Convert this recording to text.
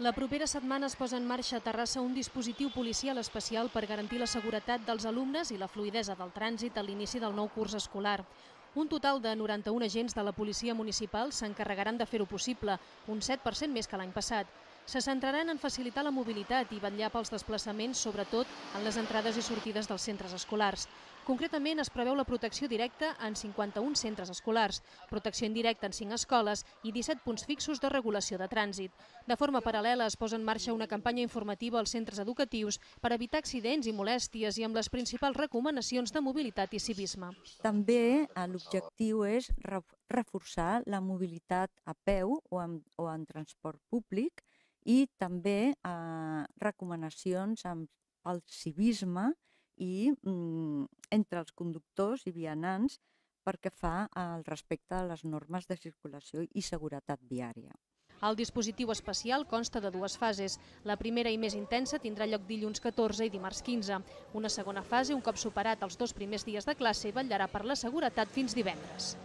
La propera setmana es posa en marxa a Terrassa un dispositiu policial especial per garantir la seguretat dels alumnes i la fluïdesa del trànsit a l'inici del nou curs escolar. Un total de 91 agents de la policia municipal s'encarregaran de fer-ho possible, un 7% més que l'any passat. Se centraran en facilitar la mobilitat i vetllar pels desplaçaments, sobretot en les entrades i sortides dels centres escolars. Concretament, es preveu la protecció directa en 51 centres escolars, protecció indirecta en 5 escoles i 17 punts fixos de regulació de trànsit. De forma paral·lela, es posa en marxa una campanya informativa als centres educatius per evitar accidents i molèsties i amb les principals recomanacions de mobilitat i civisme. També l'objectiu és reforçar la mobilitat a peu o en transport públic i també recomanacions pel civisme i entre els conductors i vianants perquè fa al respecte a les normes de circulació i seguretat viària. El dispositiu especial consta de 2 fases. La primera i més intensa tindrà lloc dilluns 14 i dimarts 15. Una segona fase, un cop superat els 2 primers dies de classe, vetllarà per la seguretat fins divendres.